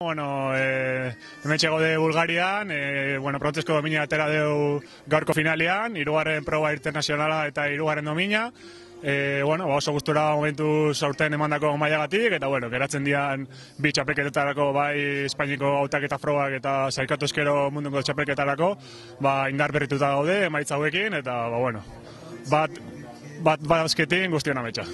Bueno, hemen txegode Bulgarian, prontezko domina atera deu gaurko finalean, hirugarren proba internazionala eta hirugarren domina. Oso gustura momentu aurten emandako mailagatik, eta geratzen dian bi txapelketetarako, bai Espainiko hautaketa frogak eta sailkatu eskero munduko txapelketarako, indar berrituta gaude, emaitza hauekin, eta bat azketin guztion ametsa.